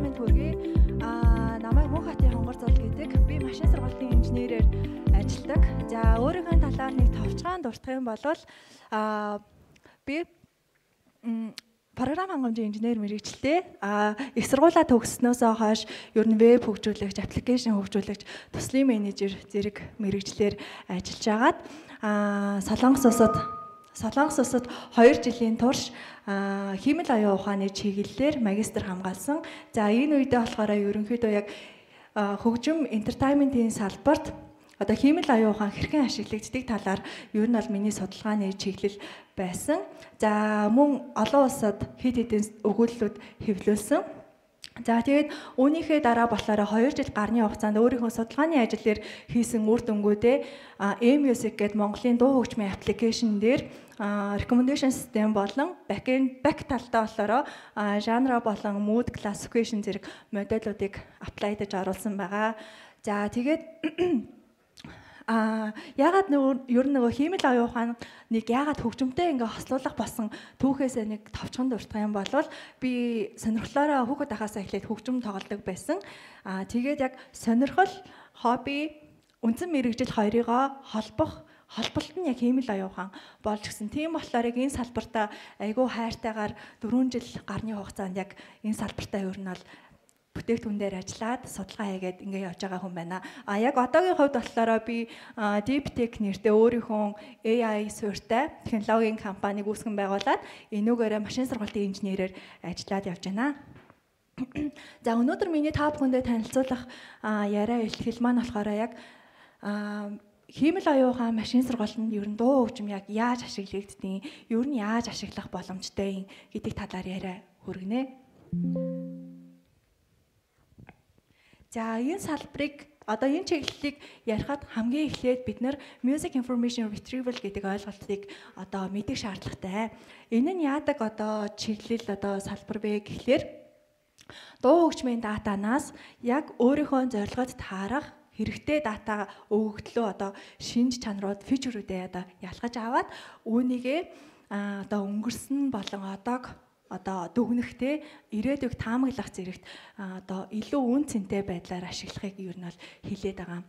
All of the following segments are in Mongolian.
минь төргий. Намайг Мөнхбатын Хонгор Зул гэдэг. Би машин сургалтын инженерээр ажилладаг. За өөрийнхөө талаар нэг товчхон дурдах юм бол би програм хангамжийн инженер мэргэжилтэй. Их сургуулаа төгссөнөөс хойш ер нь веб хөгжүүлэгч, аппликейшн хөгжүүлэгч, төслийн менежер зэрэг мэргэжлэр ажиллаж агаад Солонгос улсад 2 жилийн турш хиймэл оюун ухааны чиглэлээр магистр хамгаалсан. За энэ үедээ болохоор ерөнхийдөө яг хөгжим entertainment-ийн салбарт одоо хиймэл оюун ухаан хэрхэн ашиглагддаг талаар ер нь бол миний судалгааны чиглэл байсан. За мөн олон улсад хэд хэдэн өгүүлэлүүд хэвлүүлсэн. За тэгээд үүнийхээ дараа болохоор 2 жил гарны хугацаанд өөрийнхөө судалгааны ажил дээр хийсэн үр дүнгуудээ eMusic гэдэг Монголын дуу хөгжмийн аппликейшн дээр recommendation system болон back талдаа болохоор genre болон mood classification зэрэг модулуудыг апплайдаж оруулсан байгаа. За тэгээд ягаад ер нь нөгөө хиймэл оюун ухаан нэг ягаад хөгжимтэй ингээ хослуулах болсон түүхээсээ нэг товчхон дурдах юм бол би сонирхлоороо хүүхэд ахаасаа эхлээд хөгжим тоглодог байсан. Тэгээд яг сонирхол, хобби, үндсэн мэргэжил хоёрыгоо холболт нь яг хиймэл оюун ухаан болж гисэн. Тийм болохоор яг энэ салбартаа айгүй хайртайгаар 4 жил гарны хугацаанд яг энэ салбартаа ер нь бол бүтээгдэхүүн дээр ажиллаад судалгаа хийгээд ингээ явж байгаа хүн байна. Яг одоогийн хувьд болохоор би Deep Tech нэртэй өөрийнхөө AI суурьтай технологийн компанийг үүсгэн байгуулад энүүгээрээ машин сургалтын инженерээр ажиллаад явж байна. За өнөөдөр миний та бүхэндээ танилцуулах яриа эхлэл маань болохоор яг хиймэл оюун ухаан машин сургалтанд ер нь дуу хөгжим яг яаж ашиглагддгийг, ер нь яаж ашиглах боломжтой гэдэг талаар яриа хүргэнэ. За энэ салбарыг одоо энэ чиглэлийг ярихад хамгийн эхлээд бид нар music information retrieval гэдэг ойлголтыг одоо мэдэх шаардлагатай. Энэ нь яадаг одоо чиглэл одоо салбар бэ гэхлээр дуу хөгжмийн датанаас яг өөрийнхөө зорилгод таарах хэрэгтэй дата өгөгдлөө одоо шинж чанарууд, фичерүүдээ одоо ялгаж аваад үүнийгээ одоо өнгөрсөн болон одоо дүгнэхтэй ирээдүйг таамаглах зэрэгт одоо илүү үн цэнтэй байдлаар ашиглахыг юу нь бол хэлээд байгаа.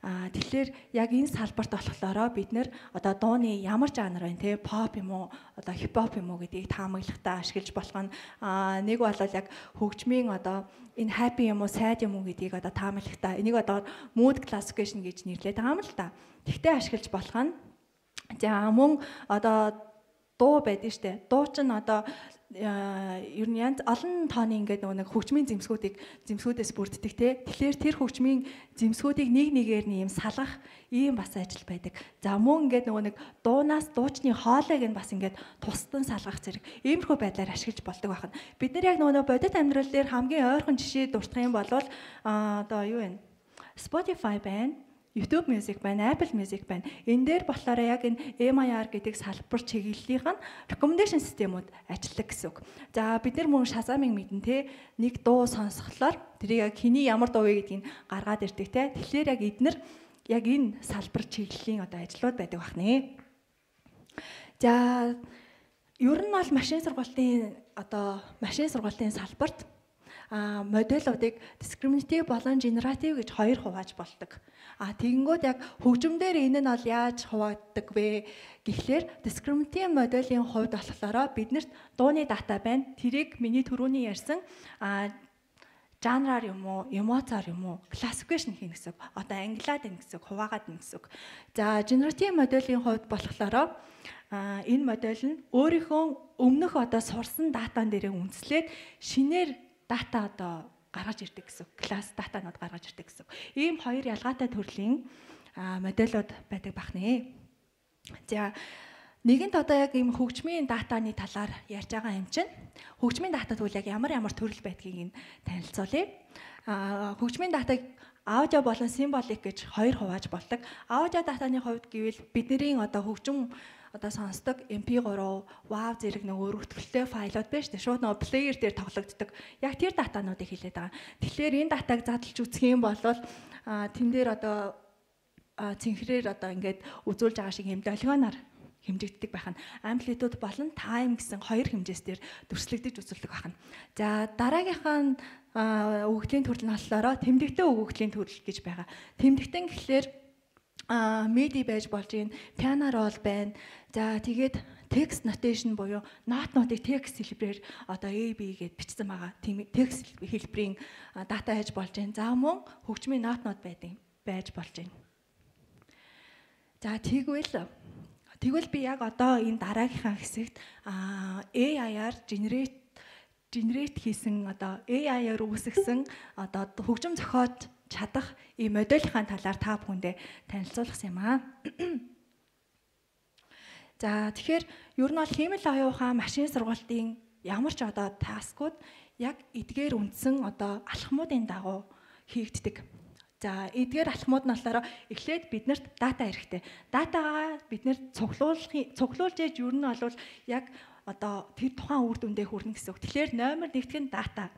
Тэгэхээр яг энэ салбарт болохоор бид нэр одоо дууны ямар жанр байна те pop юм уу одоо хипхоп юм уу гэдгийг таамаглахтаа ашиглаж болох нь нэг бол яг хөгжмийн одоо энэ happy юм уу sad юм уу гэдгийг одоо таамаглахтаа энийг одоо mood classification гэж нэрлэдэг байгаа юм л та. Тэгтээ ашиглаж болох нь за мөн одоо дуу байдаг штэ. Дуу чинь одоо ер нь янз олон тооны ингээд нэг хөгжмийн зэмсгүүдээс бүрддэг те. Тэгэхээр тэр хөгжмийн зэмсгүүдийг нэг нэгээр нь юм салгах ийм бас ажил байдаг. За мөн ингээд нэг дуунаас дуучны хоолойг нь бас ингээд тусдан салгах зэрэг иймэрхүү байдлаар ашиглаж болдог байна. Бид нар яг бодит амьдрал дээр хамгийн ойрхон жишээ дурдах юм бол одоо юу вэ? Spotify байна. YouTube Music байна, Apple Music байна. Энэ дээр болохоор яг энэ MIR гэдэг салбар чиглэлийнх нь recommendation системүүд ажилладаг гэсэн үг. За бид нар мөн Shazam-ыг мэднэ те. Нэг дуу сонсголоор тэрийг яг хэний ямар дуу вэ гэдгийг гаргаад ирдэг те. Тэгэхээр яг эднэр яг энэ салбар чиглэлийн одоо ажлууд байдаг бахнэ. За ер нь бол машин сургалтын салбарт модулуудыг discriminative болон generative гэж хоёр хувааж болдог. Тэгэнгүүт яг хөгжимдөр энэ нь бол яаж хуваагддаг вэ гэхлээр discriminative модулийн хувьд болохоор биднэрт дууны дата байна. Тэрийг миний түрүүний ярьсан жанраар юм уу, эмоцоор юм уу, classification хийнэ гэсэн. Одоо ангилаад ийн гэсэн, хуваагаад ийн гэсэн. За generative модулийн хувьд болохоор энэ модуль нь өөрийнхөө өмнөх одоо сурсан датан дээрээ үндэслээд шинээр дата одоо гаргаж ирдэг гэсэн. Класс датанууд гаргаж ирдэг гэсэн. Ийм хоёр ялгаатай төрлийн модулууд байдаг бахнэ. За нэгэнт одоо яг ийм хөгжмийн датаны талаар ярьж байгаа юм чинь хөгжмийн дата тэгвэл яг ямар төрөл байдгийг танилцуулъя. Хөгжмийн датаг аудио болон символик гэж хоёр хувааж болдог. Аудио датаны хувьд гэвэл бидний одоо хөгжим одоо сонсдог MP3, WAV зэрэг нэг өргөтгөлтэй файлууд байна шүү дээ. Шууд нөгөө плеер дээр тоглогддог. Яг тэр датануудыг хэлээд байгаа. Тэгэхээр энэ датаг задлж үзэх юм бол тэн дээр одоо цэнхрээр одоо ингээд үзүүлж байгаа шиг юм долгионоор хэмжигддэг байх нь. Amplitude болон time гэсэн хоёр хэмжээс дээр дүрслэгдэж үзүүлдэг байх нь. За дараагийнхаа өгөгдлийн төрөл нь болохоор тэмдэгтэй өгөгдлийн төрөл гэж байгаа. Тэмдэгтэн гэхлээр MIDI байж болж юм, piano roll байна. За тэгээд text notation буюу нотыг text хэлбэрээр одоо A B гэд бичсэн байгаа. Тийм text хэлбэрийн дата хийж болж байна. За мөн хөгжмийн нот байж болж байна. За тэгвэл би яг одоо энэ дараагийнхаа хэсэгт AI-аар generate хийсэн одоо AI-аар үүсгэсэн одоо хөгжим зохиож чадах ийм модельийн талаар та бүхэндээ танилцуулсан юм аа. За тэгэхээр ер нь бол хиймэл оюухан машин сургалтын ямар ч одоо таскууд яг эдгээр үндсэн одоо алхмуудын дагуу хийгддэг. За эдгээр алхмууд нь болохоор эхлээд биднэрт дата хэрэгтэй. Датагаа бид нэр цуглуулж яаж ер нь бол яг одоо тэр тухайн үр дүндээ хүрнэ гэсэн үг. Тэгэхээр номер 1-т нь дата.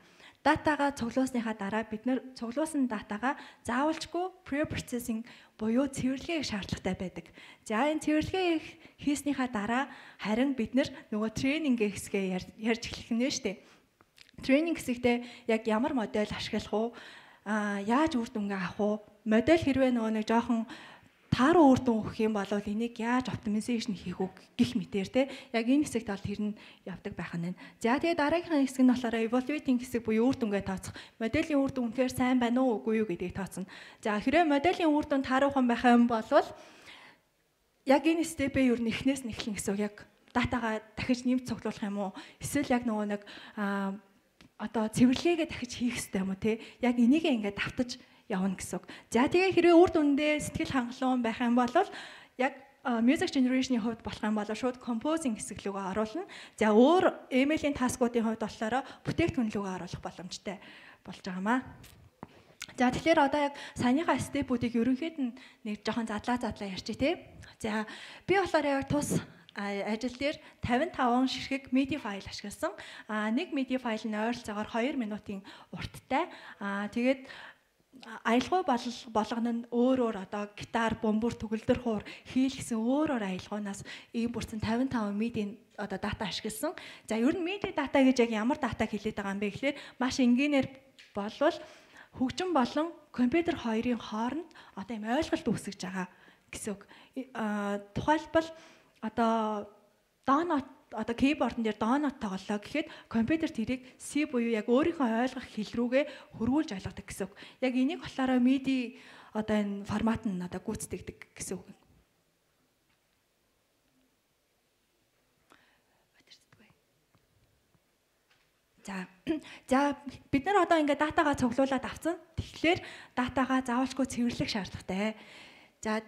Датагаа цуглуусныхаа дараа бид нэр цуглуулсан датагаа заавалжгүй pre-processing буюу цэвэрлэгээ шаардлагатай байдаг. За энэ цэвэрлэгээ хийснийхаа дараа харин бид нэр нөгөө тренинг хэсгээ ярьж эхлэх нь шүү дээ. Тренинг хэсэгтээ яг ямар модель ашиглах уу? Яаж үр дүнгээ авах уу? Модель хэрвээ нөгөө нэг жоохон тааруу үр дүн өгөх юм бол энийг яаж оптимизашн хийх үү гэх мэтээр те яг энэ хэсэгт бол тэр нь явдаг байх нь. За тэгээд дараагийнхаа хэсэг нь болохоор evaluating хэсэг буюу үр дүнгээ тооцох. Моделийн үр дүн үнэхээр сайн байна уу үгүй юу гэдгийг тооцно. За хэрвээ моделийн үр дүн тааруухан байх юм бол яг энэ степээ юу нэхнээс нэхлэн гэсэн яг датагаа дахиж нэмж цуглуулах юм уу? Эсвэл яг нөгөө нэг одоо цэвэрлэгээ дахиж хийх хэрэгтэй юм уу те? Яг энийгээ ингээд давтаж явна гэсэн үг. За тэгээ хэрвээ үр дүндээ сэтгэл хангалуун байх юм бол яг music generation-ийн хувьд болох юм бол шууд composing хэсэг рүүгээ оруулна. За өөр email-ийн таскуудын хувьд болохоор бүтээгдэхүүн рүүгээ оруулах боломжтой болж байгаамаа. За тэгэхээр одоо яг саяныхаа степүүдийг ерөнхийд нь нэг жоохон задлаа ярьчих тий. За би болохоор яг тус ажил дээр 55 ширхэг MIDI файл ашигласан. Нэг MIDI файл нь ойролцоогоор 2 минутын урттай. Тэгээд аялгау болгоно нь өөр одоо гитар, бөмбөр, төгөлдөр хуур хийлгсэн өөр аялгауноос ийм бүрдсэн 55 MIDI одоо дата ашигласан. За ер нь MIDI дата гэж яг ямар датаг хэлээд байгаа юм бэ гэхээр маш энгийнээр болвол хөгжим болон компьютер хоёрын хооронд одоо юм ойлголт үүсгэж байгаа гэсэн үг. Тухайлбал одоо донот одоо keyboard-н дээр донот тоглолоо гэхэд компьютер тэрийг C буюу яг өөрийнхөө ойлгох хэл рүүгээ хөрвүүлж ойлгодог гэсэн үг. Яг энийг болохоор MIDI одоо энэ формат нь одоо гүйцэтгэдэг гэсэн үг. За бид нар одоо ингээд датагаа цуглуулад авсан. Тэгэхээр датагаа заавалчгүй цэвэрлэх шаардлагатай. За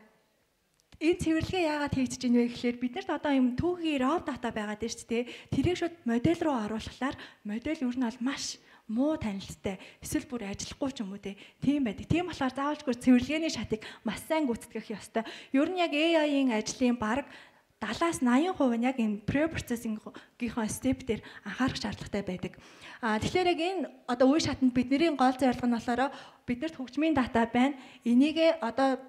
энэ цэвэрлэгээ яагаад хийгдэж байна вэ гэхээр биднэрт одоо юм түүхийн raw data байгаад байна шүү дээ. Тэрийг шууд модель руу оруулахлаар модель ер нь бол маш муу танилттай. Эсвэл бүр ажиллахгүй ч юм уу тийм байдаг. Тийм болохоор заавалжгүй цэвэрлэгээний шатыг маш сайн гүйцэтгэх ёстой. Ер нь яг AI-ийн ажлын бараг 70-80% нь яг энэ pre-processing-гийнхаа step дээр анхаарах шаардлагатай байдаг. Тэгэхээр яг энэ одоо үе шатанд бидний гол зорилго нь болохоор биднэрт хөгжмийн дата байна. Энийгээ одоо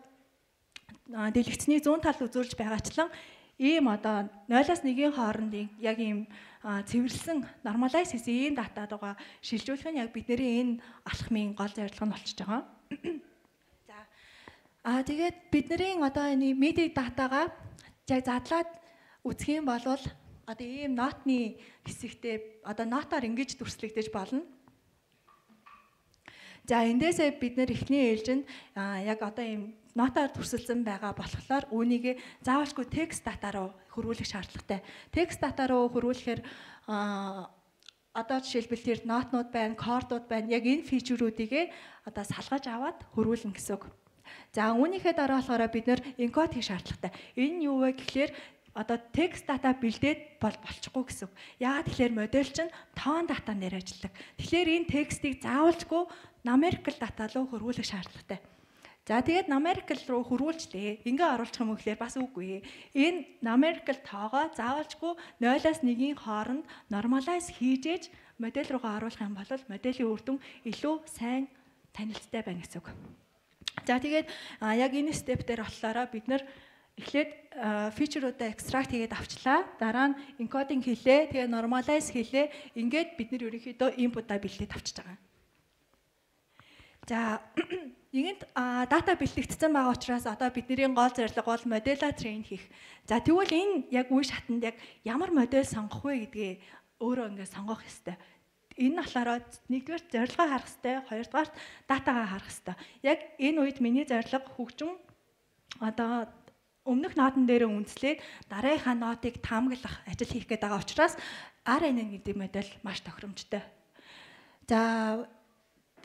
дэлгэцний зүүн тал үзүүлж байгаачлан ийм одоо 0-1 хоорондын яг ийм цэвэрлсэн normalize хийсэн ийм дата руугаа шилжүүлэх нь яг бидний энэ алхмын гол зорилго нь болчихж байгаа. За тэгээд бидний одоо энэ MIDI датагаа яг задлаад үзэх юм бол одоо ийм нотны хэсэгтээ одоо нотоор ингэж дүрслэгдэж болно. За эндээсээ бид нэр эхний ээлжинд яг одоо ийм нотоор дүрсэлсэн байгаа болохоор үүнийг заавалжгүй текст дата руу хөрвүүлэх шаардлагатай. Текст дата руу хөрвүүлэхээр одоо жишээлбэл тэр нотнууд байна, кордууд байна. Яг энэ фичерүүдийг одоо салгаж аваад хөрвүүлнэ гэсэн үг. За үүнийхээ дараа болохоор бид нэр encode хийх шаардлагатай. Энэ нь юу вэ гэхээр одоо текст дата бэлдээд болчихгүй гэсэн үг. Яагаад тэгэхээр модель чинь тоон датан дээр ажилладаг. Тэгэхээр энэ текстийг заавалжгүй numerical дата руу хөрвүүлэх шаардлагатай. За тэгээд numerical руу хөрвүүлжлээ. Ингээ оруулах юм уу гэхээр бас үгүй. Энэ numerical тоогоо заавалжгүй 0-1-ийн хооронд normalize хийж модель руугаа оруулах юм бол моделийн үр дүн илүү сайн танилцтай байна гэсэн үг. За тэгээд яг энэ степ дээр болохоор бид нэр эхлээд фичеруудаа extract хийгээд авчлаа. Дараа нь encoding хийлээ. Тэгээ normalize хийлээ. Ингээд бид нэр ерөнхийдөө input-а бэлдээд авчиж байгаа. За нэгэнт дата бэлтгэгдсэн байгаа учраас одоо бидний гол зорилго бол модель train хийх. За тэгвэл энэ яг үе шатанд яг ямар модель сонгох вэ гэдгээ өөрөө ингээд сонгох ёстой. Энэ болохоор нэгдүгээр зорилгоо харах ёстой, хоёрдугаар датагаа харах ёстой. Яг энэ үед миний зорилго хөгжим одоо өмнөх ноотон дээр үндэслээд дараагийнхаа нотыг таамаглах ажил хийх гээд байгаа учраас RNN гэдэг модель маш тохиромжтой. За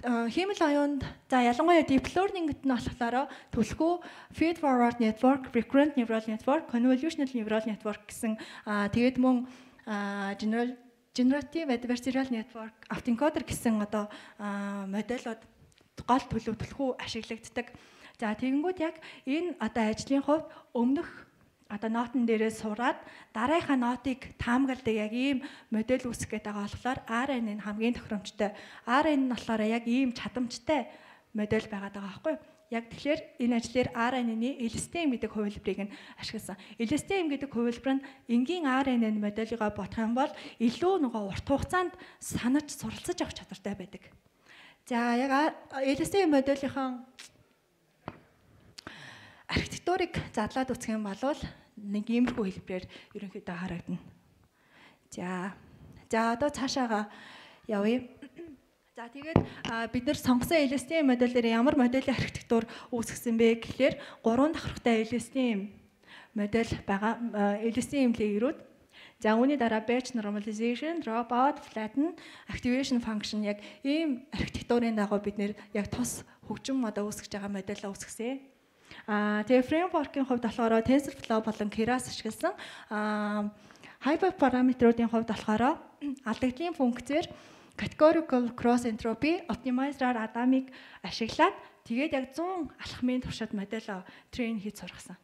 хиймэл оюунд ялангуяа deep learning-д нь болохоор түлхүү feed forward network, recurrent neural network, convolutional neural network гэсэн тэгээд мөн generative adversarial network, autoencoder гэсэн одоо модельуд гол түлхүү ашиглагддаг. За тэгэнгүүт яг энэ одоо ажлын хувьд өмнөх одоо нотон дээрээ сураад дараагийнхаа нотыг таамагладаг яг ийм модель үүсгэх гэдэг болохоор RNN хамгийн тохиромжтой. RNN нь болохоор яг ийм чадамжтай модель байгаад байгаа байхгүй юу? Яг тэгэхээр энэ ажлаар RNN-ийн LSTM гэдэг хувилбарыг нь ашигласан. LSTM гэдэг хувилбар нь энгийн RNN моделийг бодох юм бол илүү урт хугацаанд санаж суралцаж авах чадвартай байдаг. За яг LSTM моделийнхаа архитектурыг задлаад үзэх юм бол нэг иймэрхүү хэлбэрээр ерөнхийдөө харагдана. За одоо цаашаага явъя. За тэгээд бид нар сонгосон LSTM модельээр ямар моделийн архитектур үүсгэсэн бэ гэхээр 3 давхартай LSTM модель байгаа. LSTM layer-ууд. За үүний дараа batch normalization, dropout, flatten, activation function яг ийм архитектурын дагуу бид нэр яг тус хөгжим одоо үүсгэж байгаа модельаа үүсгэсэн. Тэгээ framework-ийн хувьд болохоор TensorFlow болон Keras ашигласан. Hyperparameter-уудын хувьд болохоор алдагдлын функцээр categorical cross entropy optimizer Adamic ашиглаад тэгээд яг 100 алхмын туршид модель train хийж сургасан.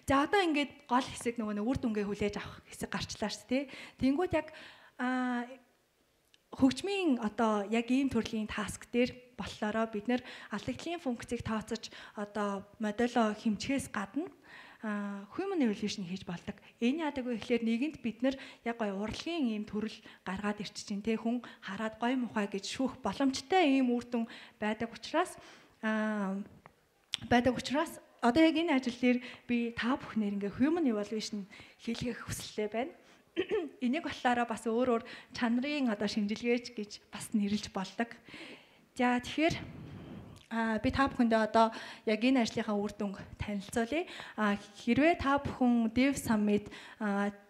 За одоо ингээд гол хэсэг нөгөө үр дүнгээ хүлээж авах хэсэг гарчлаа шүү дээ. Тэнгүүд яг хөгжмийн одоо яг ийм төрлийн таск дээр болохоор бид нэр алдагдлын функцийг тооцож одоо модело хэмжихээс гадна human evaluation хийж болдог. Энэ яадаг вэ гэхээр нэгэнд бид нэр яг гоё урлагийн ийм төрөл гаргаад ирчих чинь те хүн хараад гоё мухай гэж шүүх боломжтой ийм үр дүн байдаг учраас одоо яг энэ ажил дээр би та бүхнээр ингээ human evaluation хийлгэх хүсэлтэй байна. Энийг болохоор бас өөр чанарын одоо шинжилгээч гэж бас нэрлэж болдог. За тэгэхээр би та бүхэндээ одоо яг энэ ажлынхаа үр дүнг танилцуулъя. Хэрвээ та бүхэн Dev Summit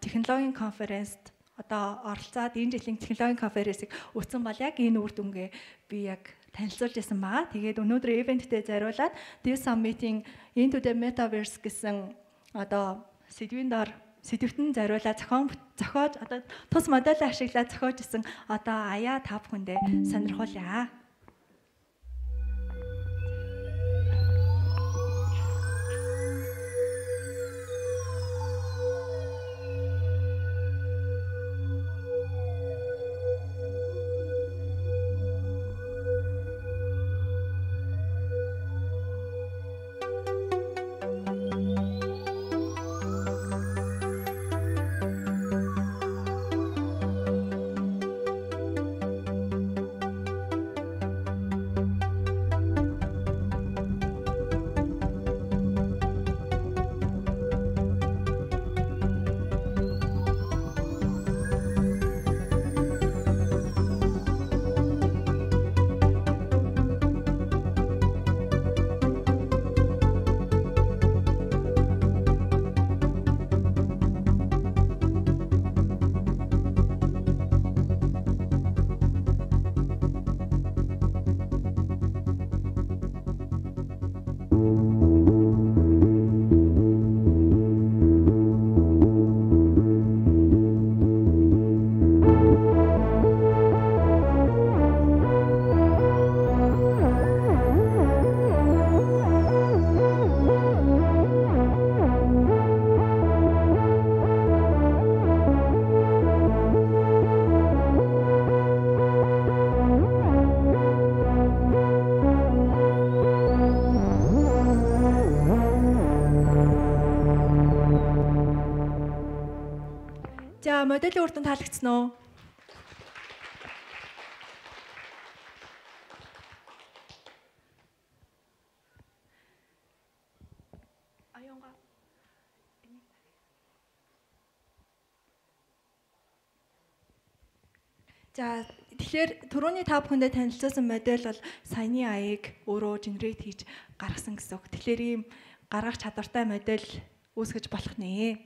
технологийн конференцд одоо оролцоод энэ жилийн технологийн конференцийг үзсэн бол яг энэ үр дүнгээ би яг танилцуулж байсан байгаа. Тэгээд өнөөдөр ивенттэй зориулаад Dev Summit-ийн Into the Metaverse гэсэн одоо сэдвтэн зориулаад зохиож одоо тус модель ашиглаад зохиож исэн одоо аяа та бүхэндээ сонирхуулъя. За моделийн үр дүн таалагдсан уу? За тэгэхээр түрүүний та бүхэндээ танилцуулсан модель бол саяны аяыг өөрөө генерейт хийж гаргасан гэсэн үг. Тэгэхээр ийм гаргах чадвартай модель үүсгэж болох нэ.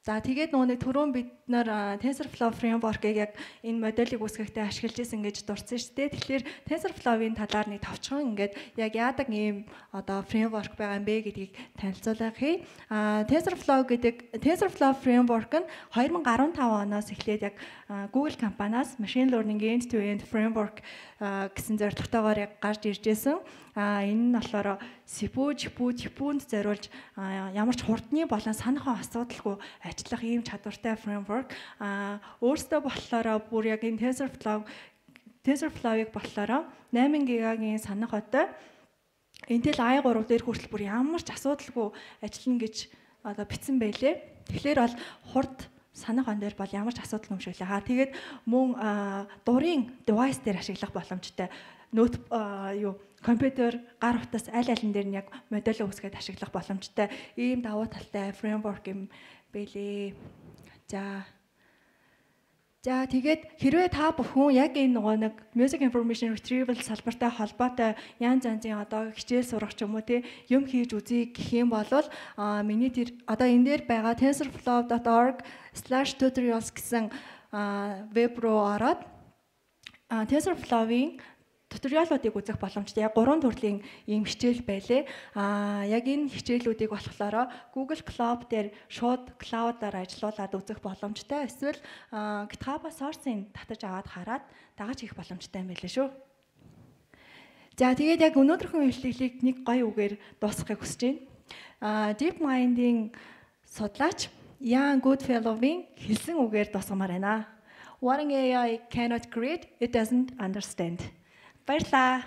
За тэгээд нөгөө түрүүн бид нар TensorFlow framework-ыг яг энэ моделийг үүсгэхдээ ашиглаж исэн гэж дурдсан шүү дээ. Тэгэхээр TensorFlow-ын талаар нэг товчхон ингээд яг яадаг ийм одоо framework байгаа юм бэ гэдгийг танилцуулах хий. TensorFlow framework нь 2015 оноос эхлээд яг Google компаниас machine learning end-to-end framework гэсэн зорилготойгоор яг гарч ирж байсан. Энэ нь болохоор CPU-нд зориулж ямар ч хурдны болон санахын асуудалгүй ажиллах ийм чадвартай framework. Өөрөөсөө болохоор бүр яг энэ TensorFlow-ыг болохоор 8 гигагийн санах отой Intel i3 дээр хүртэл бүр ямар ч асуудалгүй ажиллана гэж одоо бичсэн байлээ. Тэгэхээр бол хурд санах он дээр бол ямар ч асуудал юмшгүй лээ. Тэгээд мөн дурын device дээр ашиглах боломжтой компьютер гар утас аль алин дээр нь яг модель үүсгээд ашиглах боломжтой ийм давуу талтай framework юм байлээ. За тэгээд хэрвээ та бүхэн яг энэ нөгөө нэг music information retrieval салбартай холбоотой янз янзын одоо хичээл сурах ч юм уу юм хийж үзье гэх юм бол миний одоо энэ дээр байгаа tensorflow.org/tutorials гэсэн веб руу ороод TensorFlow-ийн туториалуудыг үзэх боломжтой. Яг 3 төрлийн ийм хичээл байлээ. Яг энэ хичээлүүдийг болохоор Google Cloud дээр шууд cloud-аар ажиллуулад үзэх боломжтой. Эсвэл GitHub-аас source-ыг татаж аваад хараад дагаж хийх боломжтой юм байлээ шүү. За тэгээд яг өнөөдрийнхөө хэллэглийг нэг гоё үгээр дуусгахыг хүсэж байна. DeepMind-ийн судлаач Ian Goodfellow-ийн хэлсэн үгээр дуусгамаар байна. What an AI cannot create, it doesn't understand. Баярлалаа.